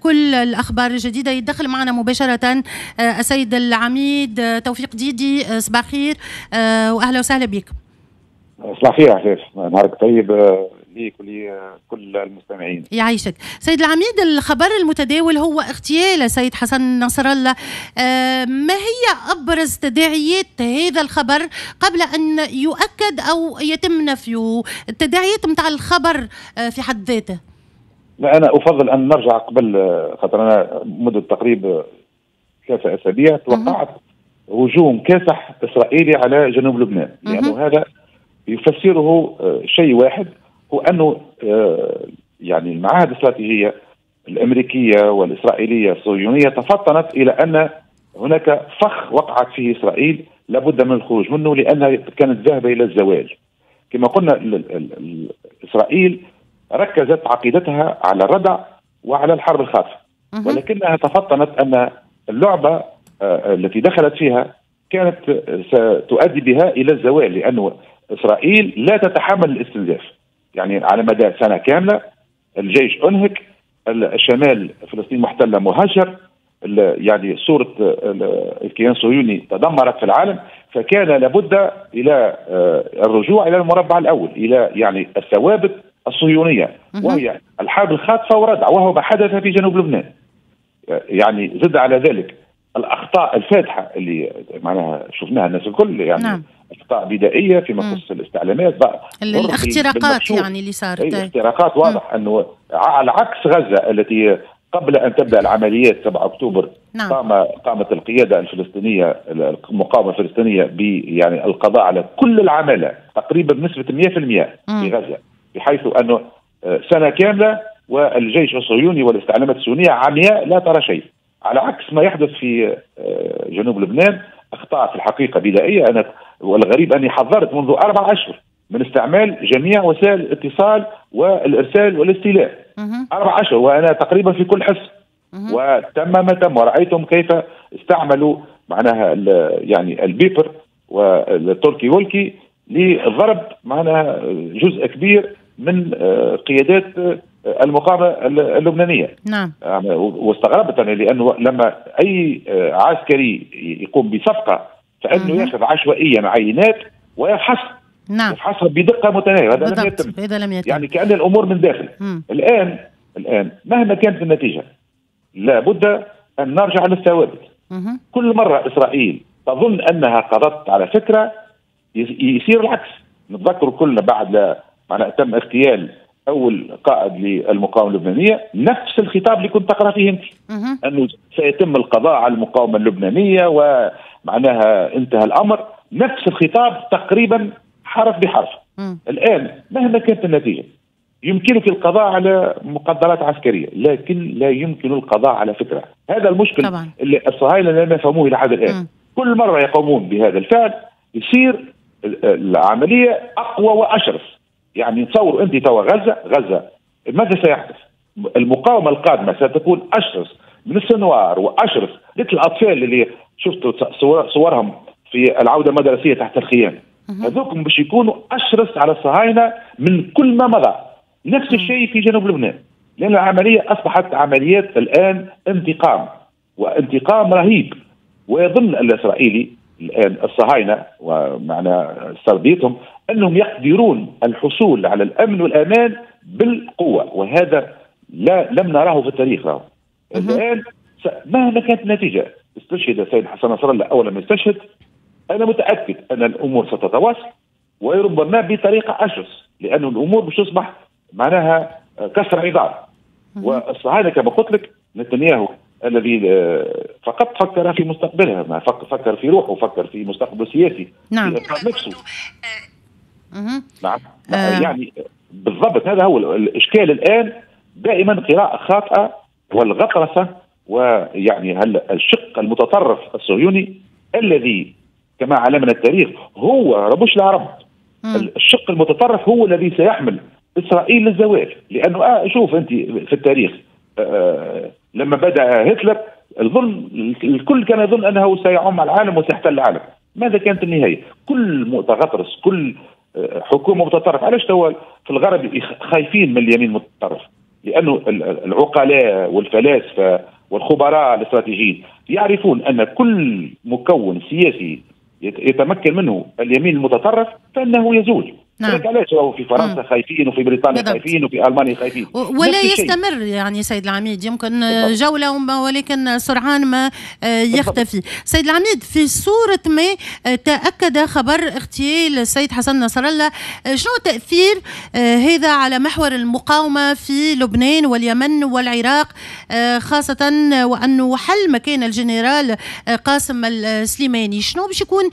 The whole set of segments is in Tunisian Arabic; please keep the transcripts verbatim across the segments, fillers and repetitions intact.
كل الأخبار الجديدة. يتدخل معنا مباشرة السيد العميد توفيق ديدي. صباح الخير وأهلا وسهلا بك. صباح الخير عفاف، نهارك طيب ليك ولكل المستمعين. يعيشك سيد العميد. الخبر المتداول هو اغتيال السيد حسن نصر الله، ما هي أبرز تداعيات هذا الخبر قبل أن يؤكد أو يتم نفيه؟ التداعيات متاع الخبر في حد ذاته. لا، أنا أفضل أن نرجع قبل، خاطر أنا مدة تقريبا ثلاثة أسابيع توقعت هجوم كاسح إسرائيلي على جنوب لبنان، لأنه هذا يفسره شيء واحد، هو أنه يعني المعاهد الاستراتيجية الأمريكية والإسرائيلية الصهيونية تفطنت إلى أن هناك فخ وقعت فيه إسرائيل لابد من الخروج منه، لأنها كانت ذاهبة إلى الزوال. كما قلنا إسرائيل ركزت عقيدتها على الردع وعلى الحرب الخاطفة، ولكنها تفطنت أن اللعبة التي دخلت فيها كانت ستؤدي بها إلى الزوال، لأنه إسرائيل لا تتحمل الاستنزاف. يعني على مدى سنة كاملة الجيش أنهك، الشمال فلسطين محتلة مهجر، يعني صورة الكيان الصهيوني تدمرت في العالم، فكان لابد إلى الرجوع إلى المربع الأول، إلى يعني الثوابت الصهيونية، وهي الحرب الخاطفة وردع، وهو ما حدث في جنوب لبنان. يعني زد على ذلك الأخطاء الفادحة اللي معناها شفناها الناس الكل، يعني نعم. أخطاء بدائية فيما يخص الاستعلامات، الاختراقات يعني اللي صارت، الاختراقات واضح أنه على عكس غزة التي قبل أن تبدأ العمليات سبعة أكتوبر نعم. قام قامت القيادة الفلسطينية المقاومة الفلسطينية ب يعني القضاء على كل العمالة تقريبا بنسبة مئة بالمئة في غزة، بحيث أنه سنة كاملة والجيش الصهيوني والاستعلامات الصهيونية عمياء لا ترى شيء، على عكس ما يحدث في جنوب لبنان. أخطاء في الحقيقة بدائية. أنا والغريب أني حذرت منذ أربع أشهر من استعمال جميع وسائل الاتصال والإرسال والاستيلاء، أربع أشهر وأنا تقريبا في كل حصة، وتم ما تم، ورأيتم كيف استعملوا معناها يعني ال beeper وال talkie walkie لضرب معناها جزء كبير من قيادات المقاومة اللبنانية. نعم. واستغربت أنا، لأنه لما أي عسكري يقوم بصفقة فإنه يأخذ عشوائيا عينات ويفحص، نعم. يفحصها بدقة متناهية، هذا لم يتم. هذا لم يتم، يعني كأن الأمور من داخل. مم. الآن الآن مهما كانت النتيجة لابد أن نرجع للثوابت. مم. كل مرة إسرائيل تظن أنها قضت على فكرة يصير العكس. نتذكر كلنا بعد لا معناها تم اغتيال أول قائد للمقاومة اللبنانية، نفس الخطاب اللي كنت تقرأ فيه أنت، أنه سيتم القضاء على المقاومة اللبنانية ومعناها انتهى الأمر، نفس الخطاب تقريبا حرف بحرف. مم. الآن مهما كانت النتيجة يمكنك القضاء على مقدرات عسكرية، لكن لا يمكن القضاء على فكرة. هذا المشكل طبعا. اللي الصهاينة لم يفهموه إلى حد الآن. مم. كل مرة يقومون بهذا الفعل يصير العملية أقوى وأشرس. يعني تصور أنت توا غزة، غزة ماذا سيحدث؟ المقاومة القادمة ستكون أشرس من السنوار وأشرس مثل الأطفال اللي شفتوا صورهم في العودة المدرسية تحت الخيام، هذوكم باش يكونوا أشرس على الصهاينة من كل ما مضى. نفس الشيء في جنوب لبنان، لأن العملية أصبحت عمليات الآن انتقام، وانتقام رهيب. ويظن الإسرائيلي الآن الصهاينة ومعنى سرديتهم أنهم يقدرون الحصول على الأمن والأمان بالقوة، وهذا لا لم نراه في التاريخ. له الآن مهما كانت النتيجة، استشهد السيد حسن نصر الله أولا ما استشهد، أنا متأكد أن الأمور ستتواصل وربما بطريقة أشرس، لأن الأمور مش تصبح معناها كسر عظام. والصهاينة كما قلت لك نتنياهو الذي فقط فكر في مستقبلها، ما فكر في روحه، فكر في مستقبله السياسي، نعم. في نفسه. نعم. آه. يعني بالضبط هذا هو الإشكال الآن، دائما قراءة خاطئة والغطرسة، ويعني هل الشق المتطرف الصهيوني الذي كما علمنا التاريخ هو ربوش العرب، مم. الشق المتطرف هو الذي سيحمل إسرائيل للزوال. لأنه آه شوف أنت في التاريخ آه لما بدأ هتلر الظن الكل كان يظن أنه سيعم العالم وسيحتل العالم، ماذا كانت النهاية؟ كل متغطرس، كل حكومة متطرفة. علاش توا في الغرب خايفين من اليمين المتطرف؟ لأنه العقلاء والفلاسفة والخبراء الاستراتيجيين يعرفون أن كل مكون سياسي يتمكن منه اليمين المتطرف فإنه يزول. نعم. علاش في فرنسا خايفين وفي بريطانيا بالضبط. خايفين وفي ألمانيا خايفين ولا يستمر يعني سيد العميد، يمكن بالضبط. جولة ولكن سرعان ما يختفي. بالضبط. سيد العميد، في صورة ما تأكد خبر اغتيال السيد حسن نصر الله، شنو تأثير هذا على محور المقاومة في لبنان واليمن والعراق، خاصة وأنه حل مكان الجنرال قاسم السليماني؟ شنو باش يكون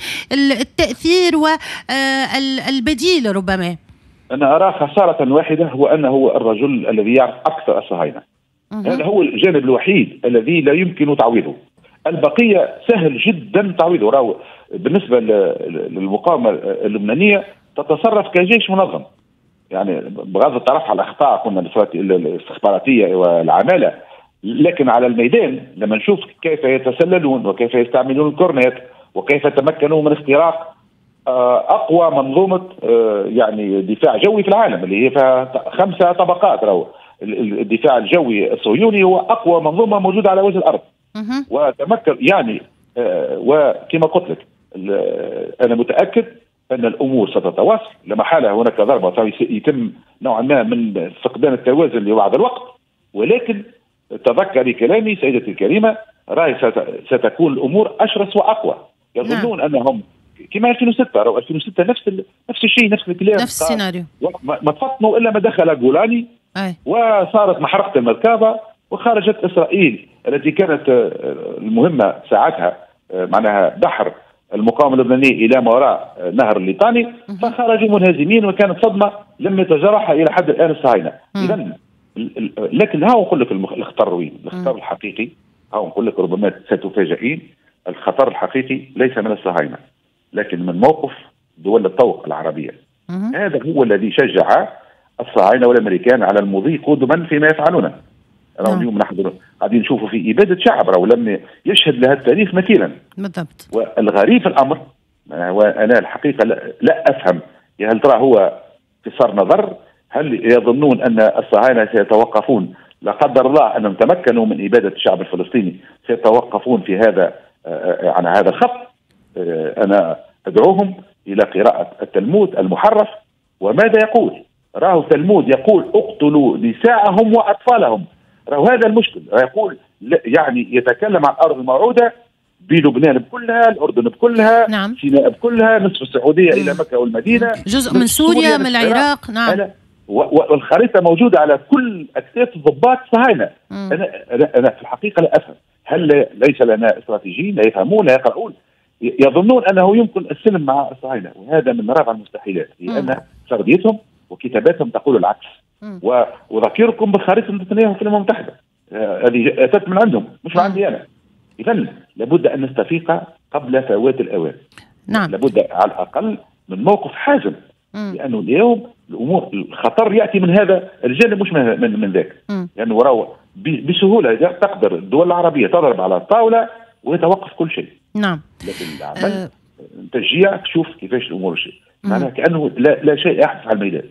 التأثير والبديل ربما؟ أنا أرى خسارة واحدة، هو أنه الرجل الذي يعرف أكثر الصهاينة. هذا هو الجانب الوحيد الذي لا يمكن تعويضه. البقية سهل جدا تعويضه. راهو بالنسبة للمقاومة اللبنانية تتصرف كجيش منظم، يعني بغض الطرف على الأخطاء قلنا الاستخباراتية والعمالة، لكن على الميدان لما نشوف كيف يتسللون وكيف يستعملون الكورنيت وكيف تمكنوا من اختراق اقوى منظومة يعني دفاع جوي في العالم اللي هي فيها خمسة طبقات. راهو الدفاع الجوي الصهيوني هو اقوى منظومة موجودة على وجه الارض. وتمكن يعني، وكما قلت لك انا متاكد ان الامور ستتواصل لما حاله هناك ضربه يتم نوعا ما من فقدان التوازن لبعض الوقت، ولكن تذكري كلامي سيدتي الكريمة، راي ستكون الامور اشرس واقوى. يظنون نعم. انهم كما ألفين وستة، راهو ألفين وستة نفس ال... نفس الشيء، نفس الكلام، نفس السيناريو. ما تفطنوا الا ما دخل جولاني وصارت محرقة المركبة وخرجت اسرائيل التي كانت المهمة ساعتها معناها بحر المقاومة اللبنانية الى ما وراء نهر الليطاني، فخرجوا منهزمين وكانت صدمة لم يتجرحها الى حد الان الصهاينة. اذا لكن ها نقول لك الخطر وين؟ الخطر الحقيقي ها نقول لك ربما ستفاجئين، الخطر الحقيقي ليس من الصهاينة لكن من موقف دول الطوق العربية. مم. هذا هو الذي شجع الصهاينة والأمريكان على المضي قدما فيما يفعلونه. راهو اليوم نحن قاعدين نشوفوا في إبادة شعب راهو لم يشهد لها التاريخ مثيلا. بالضبط. والغريب في الأمر، وأنا الحقيقة لا, لا أفهم، هل ترى هو قصار نظر؟ هل يظنون أن الصهاينة سيتوقفون لا قدر الله أنهم تمكنوا من إبادة الشعب الفلسطيني سيتوقفون في هذا عن هذا الخط؟ أنا أدعوهم إلى قراءة التلمود المحرف وماذا يقول. راهو التلمود يقول اقتلوا نساءهم وأطفالهم. راهو هذا المشكل، يقول يعني يتكلم عن الأرض الموعودة بلبنان بكلها، الأردن بكلها، نعم. سيناء بكلها، نصف السعودية إلى مكة والمدينة، جزء من سوريا، من العراق. نعم. والخريطة موجودة على كل أكتاف الضباط الصهاينة. أنا, أنا في الحقيقة لا أفهم، هل ليس لنا استراتيجيين لا يفهمون لا يقرؤون؟ يظنون أنه يمكن السلم مع الصهاينة، وهذا من رابع المستحيلات، لأن سرديتهم وكتاباتهم تقول العكس. وأذكركم بخريطة نتنياهو في الأمم المتحدة، هذه أتت من عندهم مش من عندي أنا. إذن لابد أن نستفيق قبل فوات الأوان. نعم. لابد على الأقل من موقف حازم، لأنه اليوم الأمور الخطر يأتي من هذا الجانب مش من من, من ذاك. لأنه راهو بسهولة تقدر الدول العربية تضرب على الطاولة ويتوقف كل شيء. نعم. لكن العمل أه تشجيع تشوف كيفاش الامور شيء، معناها كانه لا, لا شيء يحدث على الميدان.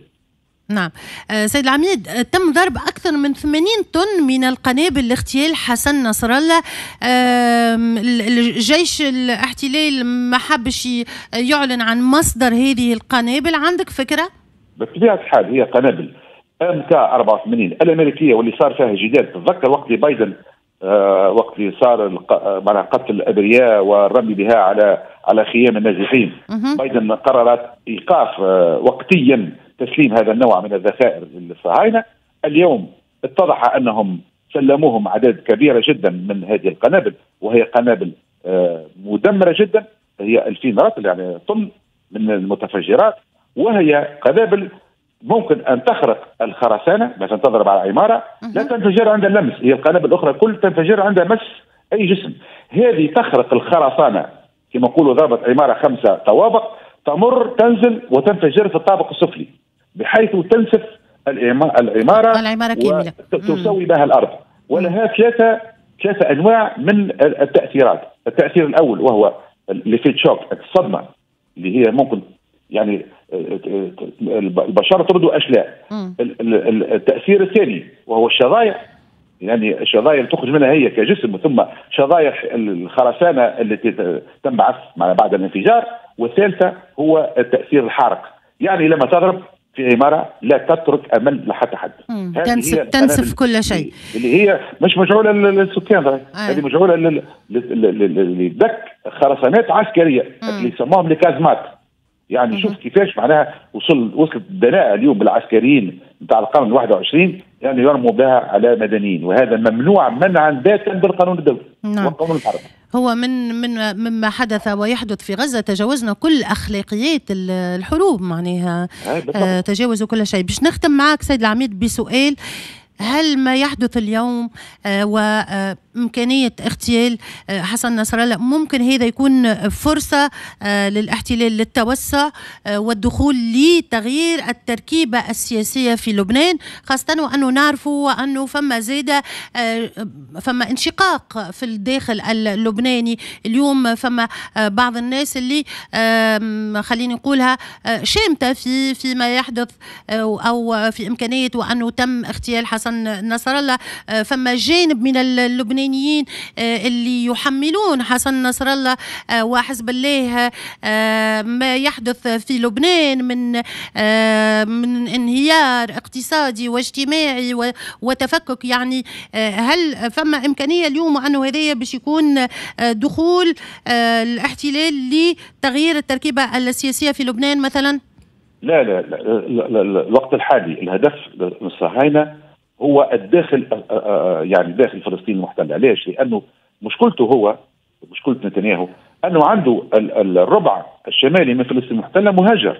نعم. أه سيد العميد، تم ضرب أكثر من ثمانين طن من القنابل لاغتيال حسن نصر الله. أه الجيش الاحتلال ما حبش يعلن عن مصدر هذه القنابل، عندك فكرة؟ بطبيعة الحال هي قنابل ام كا أربعة وثمانين الأمريكية واللي صار فيها جدال. تتذكر وقت بايدن آه وقت اللي صار معناها قتل الابرياء والرمي بها على على خيام النازحين، بايدن قررت ايقاف آه وقتيا تسليم هذا النوع من الذخائر للصهاينه. اليوم اتضح انهم سلموهم اعداد كبيرة جدا من هذه القنابل، وهي قنابل آه مدمرة جدا، هي ألفين رطل يعني طن من المتفجرات، وهي قنابل ممكن أن تخرق الخرسانة مثلا، تضرب على عمارة لا تنفجر عند اللمس، هي القنابل الأخرى كل تنفجر عند مس أي جسم، هذه تخرق الخرسانة كما نقولوا ضربت عمارة خمسة طوابق تمر تنزل وتنفجر في الطابق السفلي بحيث تنسف العمارة العمارة كاملة وتسوي بها الأرض. ولها ثلاثة ثلاثة أنواع من التأثيرات. التأثير الأول وهو l'effet choc، الصدمة اللي هي ممكن يعني البشر تردوا اشلاء. التاثير الثاني وهو الشظايا، يعني الشظايا اللي تخرج منها هي كجسم، ثم شظايا الخرسانه التي تنبعث بعد الانفجار. والثالثة هو التاثير الحارق، يعني لما تضرب في عمارة لا تترك امل لحتى حد، تنسف, تنسف كل شيء، اللي هي مش مجعوله للسكان، هذه مجعوله لدك خرسانات عسكرية اللي يسموهم الكازمات. يعني شوف كيفاش معناها وصل وصلت الدناءة اليوم بالعسكريين نتاع القرن الواحد وعشرين، يعني يرموا بها على مدنيين، وهذا ممنوع منعا باتا بالقانون الدولي. نعم. والقانون الحربي. هو من من مما حدث ويحدث في غزة تجاوزنا كل أخلاقيات الحروب، معناها آه تجاوزوا كل شيء. باش نختم معك سيد العميد بسؤال، هل ما يحدث اليوم وإمكانية اغتيال حسن نصر الله ممكن هذا يكون فرصة للاحتلال للتوسع والدخول لتغيير التركيبة السياسية في لبنان، خاصة وأنه نعرفوا أنه فما زادة فما انشقاق في الداخل اللبناني اليوم، فما بعض الناس اللي خليني نقولها شامتة في فيما يحدث أو في إمكانية وأنه تم اغتيال حسن نصر الله، فما جانب من اللبنانيين اللي يحملون حسن نصر الله وحزب الله ما يحدث في لبنان من من انهيار اقتصادي واجتماعي وتفكك. يعني هل فما إمكانية اليوم أنه هذا باش يكون دخول الاحتلال لتغيير التركيبة السياسية في لبنان مثلا؟ لا لا, لا, لا, لا الوقت الحالي الهدف من الصهاينة هو الداخل، يعني داخل فلسطين المحتلة. ليش؟ لأنه مشكلته هو مشكلة نتنياهو أنه عنده الربع الشمالي من فلسطين المحتلة مهاجر،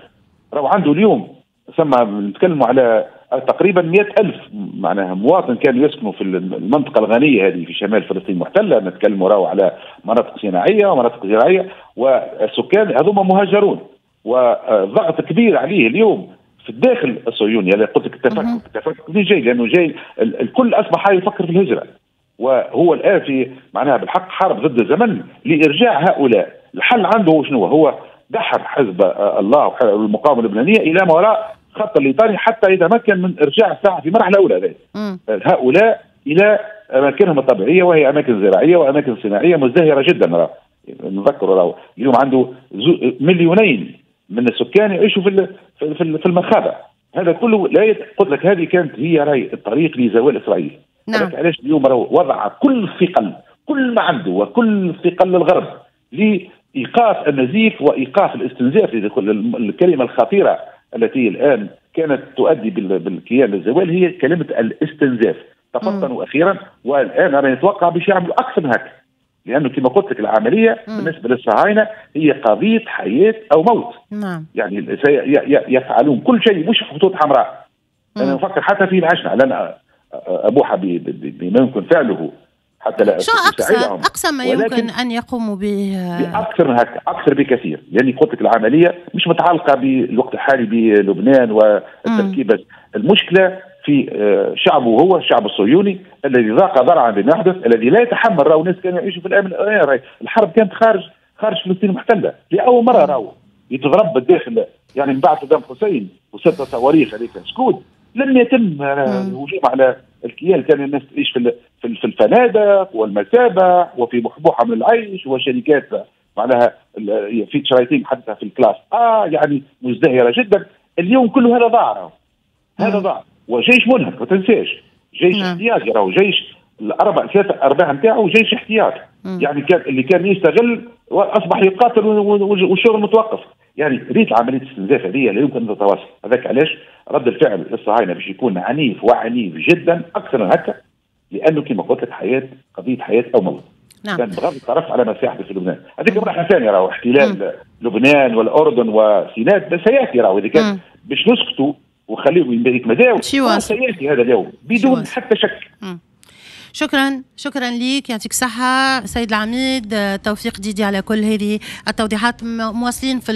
راهو عنده اليوم ثم نتكلموا على تقريبا مئة ألف معناها مواطن كانوا يسكنوا في المنطقة الغنية هذه في شمال فلسطين المحتلة، نتكلموا راهو على مناطق صناعية ومناطق زراعية، والسكان هذوما مهاجرون، وضغط كبير عليه اليوم في الداخل الصهيوني. يعني قلت لك التفكك، التفكك منين جاي؟ لانه جاي الكل اصبح يفكر في الهجرة، وهو الان في معناها بالحق حرب ضد الزمن لارجاع هؤلاء. الحل عنده شنو هو؟ دحر حزب الله والمقاومة اللبنانية الى ما وراء خط الليطاني حتى يتمكن من ارجاع الساحة في مرحلة اولى هؤلاء الى اماكنهم الطبيعية، وهي اماكن زراعية واماكن صناعية مزدهره جدا. نذكر راهو اليوم عنده مليونين من السكان يعيشوا في في المخابئ. هذا كله لا يت... قلت لك هذه كانت هي راي الطريق لزوال اسرائيل. نعم. علاش اليوم راهو وضع كل ثقل، كل ما عنده وكل ثقل الغرب لايقاف النزيف وايقاف الاستنزاف، الكلمة الخطيرة التي الان كانت تؤدي بالكيان للزوال هي كلمة الاستنزاف. تفطنوا اخيرا، والان انا نتوقع باش يعملوا اكثر من هكا، لانه كما قلت لك العملية مم. بالنسبة للصهاينه هي قضية حياة او موت. نعم. يعني يفعلون كل شيء، مش خطوط حمراء. انا نفكر حتى في العشنه، لن ابوح بما يمكن فعله حتى لا شو اقصى اقصى ما يمكن ان يقوموا به؟ اكثر من هكا، اكثر بكثير. لاني قلت لك العملية مش متعلقه بالوقت الحالي بلبنان والتركيبه. المشكلة في شعبه هو الشعب الصهيوني الذي ضاق ذرعا بما يحدث، الذي لا يتحمل. راهو ناس كانوا يعيشوا في الامن، الحرب كانت خارج خارج فلسطين المحتلة لاول مرة، راهو يتضرب بالداخل، يعني من بعد صدام حسين وست صواريخ هذيك سكوت لم يتم الهجوم على الكيان. كان الناس تعيش في في الفنادق والمسابح وفي بحبوحه من العيش وشركات معناها في شرايطين حتى في ال classe اه يعني مزدهره جدا. اليوم كل هذا ضاع، هذا ضاع، وجيش منهك ما تنساش، جيش احتياطي، راهو جيش الاربع ثلاثة ارباع نتاعو جيش احتياطي، يعني كان اللي كان يستغل واصبح يقاتل والشغل متوقف. يعني ريت عملية الاستنزاف هذه لا يمكن ان تتواصل. هذاك علاش رد الفعل للصهاينه باش يكون عنيف وعنيف جدا اكثر من هكا، لانه كما قلت لك حياة، قضية حياة او موت. نعم. كان بغض الطرف على ما سيحدث في لبنان، هذيك مرحلة ثانية، راهو احتلال لبنان والاردن وسيناء بس سياتي، راهو اذا كان باش نسكتوا وخليهم يتمداو سياتي هذا اليوم بدون حتى شك. مم. شكرا، شكرا ليك، يعطيك الصحة سيد العميد توفيق ديدي على كل هذه التوضيحات. مواصلين في